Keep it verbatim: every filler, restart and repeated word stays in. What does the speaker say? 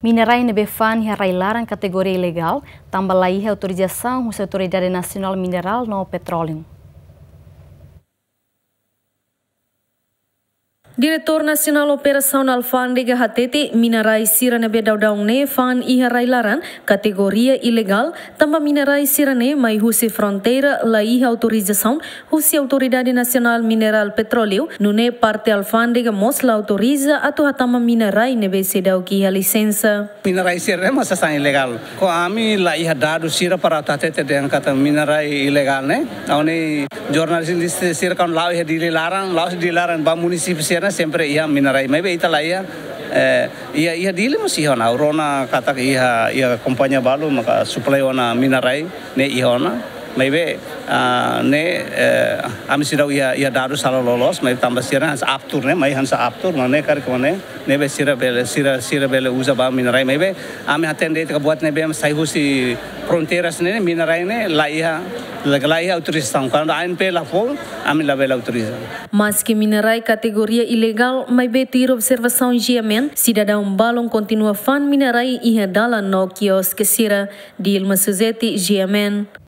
Minerai ne'ebé fa'an iha rai-laran kategoria ilegál, tanba laiha autorizasaun husi Autoridade Nasionál Minerál no Petróleu. Diretór Nasionál Operasaun Alfándega hatete, minerai sira ne'ebé daudaun ne'e fa'an iha rai-laran kategoria ilegál, tanba minerai sira-ne'e mai husi fronteira laiha autorizasaun husi Autoridade Nasionál Minerál Petróleu, nune'e parte alfándega mós la autoriza atu hatama minerai ne'ebé seidauk iha lisensa. Minerai sira-ne'e mós sasán ilegál. Ho ami laiha dadus sira para atu hatete dehan katak minerai ilegál ne'e. Ha'u-nia jornalista sira kan la'o iha Dili laran, la'o iha Dili laran ba munisípiu sira-ne'e sempre iha minerai. Maibé ita laiha, eh, iha, iha Dili mós iha ona. Ha'u rona katak iha, iha kompañia balu maka supply ona minerai ne'e iha ona. Maibé, ah, ne'e, eh, ami seidauk iha, iha dadus sala loloos, maibé tanba sira hanesan aptur ne'e, mai hanesan aptur, mak ne'e karik mak ne'e, ne'ebé sira bele, sira, sira bele uza ba minerai, maibé ami hatene de'it katak buat ne'ebé sai husi fronteiras ne'e, minerai ne'e laiha, la, laiha autorizasaun. Kuandu ANP la fó, ami labele autoriza. Maski minerai kategoria ilegál, maibé tuir observasaun GMN, sidadaun balun kontinua fa'an minerai iha dalan no kioske sira. Dilma Suzeti, GMN.